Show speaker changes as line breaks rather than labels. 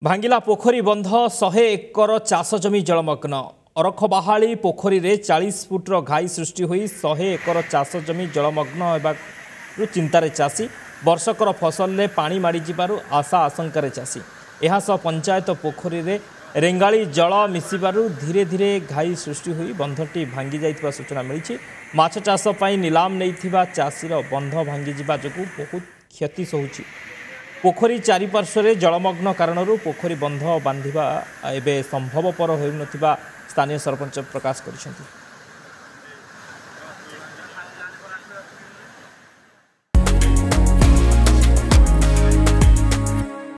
ଭାଙ୍ଗିଲା ପୋଖରୀ ବନ୍ଧ, 100 ଏକର ଚାଷ ଜମି ଜଳମଗ୍ନ। ଅରଖବାହାଳି ପୋଖରୀରେ 40 ଫୁଟର ଘାଇ ସୃଷ୍ଟି ହୋଇ 100 ଏକର ଚାଷ ଜମି ଜଳମଗ୍ନ ହେବାରୁ ଚିନ୍ତାରେ ଚାଷୀ। ବର୍ଷକର ଫସଲରେ ପାଣି ମାଡ଼ିଯିବାରୁ ଆଶା ଆଶଙ୍କାରେ ଚାଷୀ। ଏହାସହ ପଞ୍ଚାୟତ ପୋଖରୀରେ ରେଙ୍ଗାଳି ଜଳ ମିଶିବାରୁ ଧୀରେ ଧୀରେ ଘାଇ ସୃଷ୍ଟି ହୋଇ ବନ୍ଧଟି ଭାଙ୍ଗି ଯାଇଥିବା ସୂଚନା ମିଳିଛି। ମାଛ ଚାଷ ପାଇଁ ନିଲାମ ନେଇଥିବା ଚାଷୀର ବନ୍ଧ ଭାଙ୍ଗିଯିବା ଯୋଗୁଁ ବହୁତ କ୍ଷତି ସହୁଛି। ପୋଖରୀ ଚାରିପାର୍ଶ୍ୱରେ ଜଳମଗ୍ନ କାରଣରୁ ପୋଖରୀ ବନ୍ଧ ବାନ୍ଧିବା ଏବେ ସମ୍ଭବପର ହେଉନଥିବା ସ୍ଥାନୀୟ ସରପଞ୍ଚ ପ୍ରକାଶ କରିଛନ୍ତି।